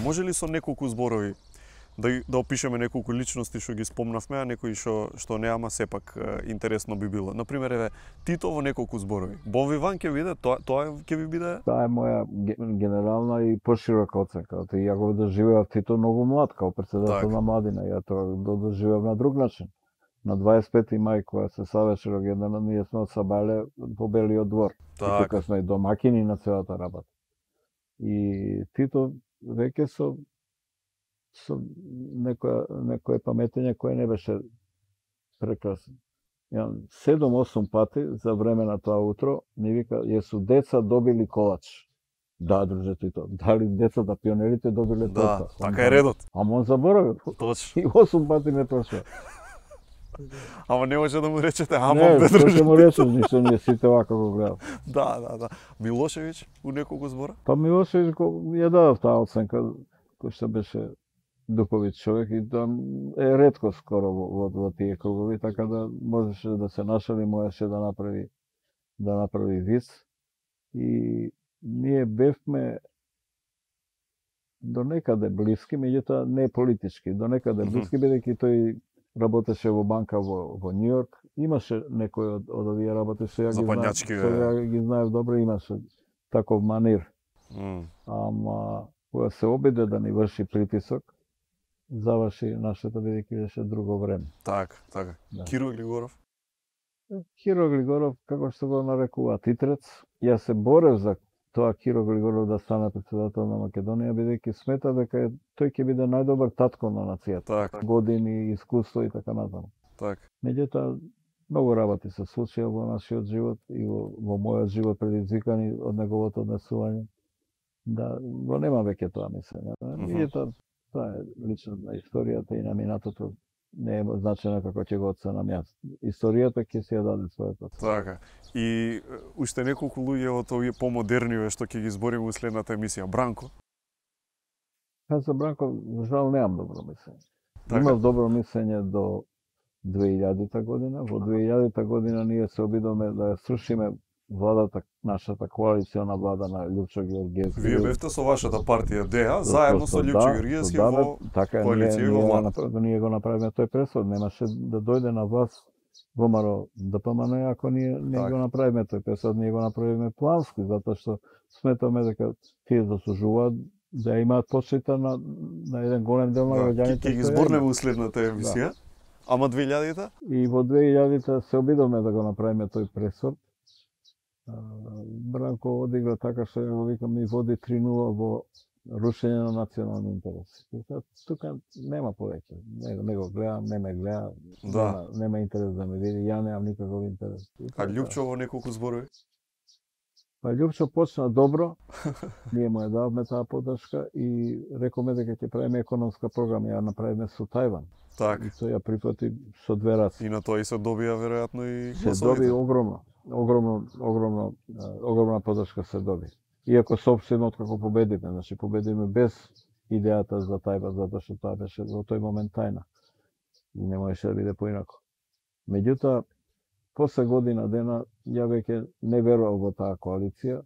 Може ли со неколку зборови да опишеме неколку личности што ги спомнавме, а некои што неама сепак интересно би било. Например, еве Тито во неколку зборови. Бовиван ќе биде, тоа ќе ви биде? Таа е моја генерална и поширока оценка. Ја го доживеав Тито многу млад, као председател на младина. Ја тоа го доживеав на друг начин. На 25. мај, кога се славеше рогенденот, ние сме одсабале по Белиот двор. И тука сме домакини на целата работа. И Тито веќе со некое паметење кое не беше прекрасно. 7-8 пати за време на тоа утро ни вика, јесу деца добили колач. Да, друже Тито, дали децата пионерите добиле тоа? Да, така е редот. Ама он заборавил. Точно. И 8 пати не прошла. Ама не може да му речете, ама не, бе друже. Не, му речеш, ништо ние сите вака го гледам. Да. Милошевиќ у неколку збора? Па Милошевиќ ја дадов таа оценка, кој што беше духовит човек и тоа е ретко скоро во тие кругови, така да можеше да се нашали, можеше да направи виц. И ние бевме до некаде блиски, меѓутоа не политички, до некаде блиски, бидејќи тој работеше во банка во Њујорк. Имаше некој од овие работи што ја ги знаев добро, имаше таков манир. Ама кога се обиде да ни врши притисок, заврши нашето, бидејќи беше друго време. Така. Да. Киро Глигоров? Киро Глигоров, како што го нарекуваат Итрец, ја се борев за тоа Киро Глигоров да стане председател на Македонија, бидејќи смета дека тој ќе биде најдобар татко на нацијата. Так. Години, искуство и така натаму. Так. Меѓутоа, многу работи се случија во нашиот живот и во мојот живот предизвикани од неговото однесување. Да, го нема веќе тоа мислење. Меѓутоа, тоа е лично на историјата и на минатото. Не е значено како ќе го оценам јас. Историјата ќе се ја даде својата. Така. И уште неколку луѓе од овие помодерниве што ќе ги збориме во следната емисија. Бранко? Јас за Бранко, жал, немам добро мислење. Така. Имав добро мислење до 2000 година. Во 2000 година ние се обидовме да ја срушиме владата, нашата коалициона влада на Љупчо Георгиевски. Вие бевте со вашата партија ДЕА, заедно со Љупчо Георгиевски во коалиција и во влада. Ние го направиме тој пресод, немаше да дојде на власт ВМРО ДПМН, ако ние го направиме тој пресод, ние го направиме плански, затоа што сметаме дека тие заслужуваат да имаат почита на еден голем дел на граѓаните. Ќе ги зборнеме во следната емисија. Ама 2000-та? И во 2000-та се обидовме да го направиме тој пресод. Бранко одигра така што ја го викам и води 3-0 во рушење на национални интереси. Тука нема повеќе. Не го гледам, не ме гледа, нема интерес да ме види, ја немам никаков интерес. А Љупчо во неколку зборови? Па Љупчо почна добро, ние му ја давме таа поддршка и рековме дека ќе правиме економска програма, ја направиме со Тајван. Так. И тој ја прифати со две раце. И на тоа и се добија веројатно и гласовите. Се доби огромна поддршка се доби. Иако сопствено откако победиме, значи победиме без идејата за Тајван, затоа што тоа беше во тој момент тајна. И не можеше да биде поинако. Меѓутоа, после година дена, ја веќе не верував во таа коалиција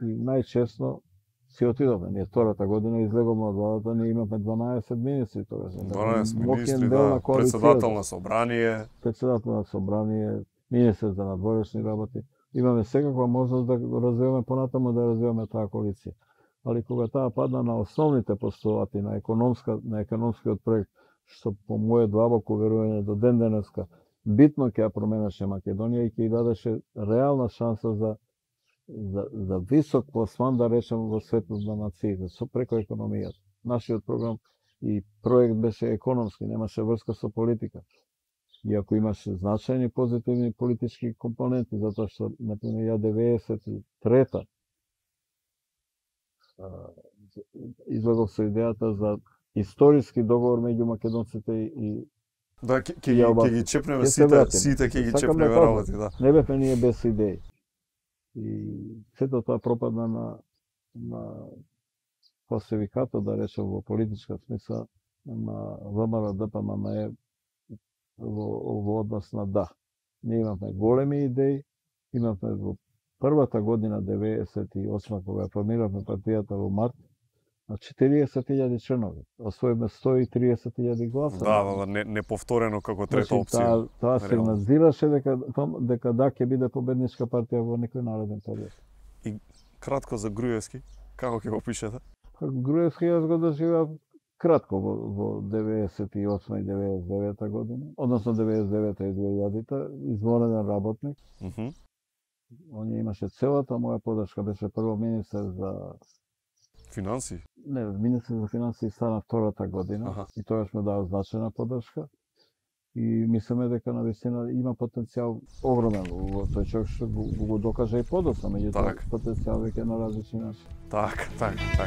и најчесно си отидовме. Ние втората година излеговме од владата, ние имавме 12 министри тогаш. 12 министри, да, председател на собрание. Председател на собрание, министер за надворешни работи. Имаме секаква можност да го развиваме понатаму, да развиваме таа коалиција. Али кога таа падна на основните постулати на економскиот проект, што по моје длабоко верување до ден денеска битно ќе ја променеше Македонија и ќе ја дадеше реална шанса за висок пласман, да речем, во светот на нациите, преку економијата. Нашиот програм и проект беше економски, немаше врска со политика. Иако имаше значајни позитивни политички компоненти, затоа што, например, ја 93-та излегов со идејата за историски договор меѓу македонците и да, ќе ги чепнеме сите ќе ги чепнеме работи, да. Не бевме ние без идеи. И сето тоа пропадна на фалсификатот, да речем, во политичка смисла на ВМРО ДПМН во однос на да. Ние имавме големи идеи, имавме во првата година 98 кога ја формиравме партијата во март, на 40.000 членови. Освоиме 130.000 гласа. Да, неповторено како трета опција. Тоа сигнализираше дека да ќе биде победничка партија во некој нареден период. И кратко за Груевски, како ќе го пишете? Груевски јас го доживеав кратко во 98 и 99 година, односно 99 и 2000-та, извонреден работник. Он имаше целата моја поддршка, беше прво министер за финансии. Не, министер за финансии стана втората година и тогаш ме дава значајна поддршка. И мислиме дека навистина има потенцијал огромен во тој човек што го докаже и подоцна, меѓутоа потенцијал веќе на различни начини. Така.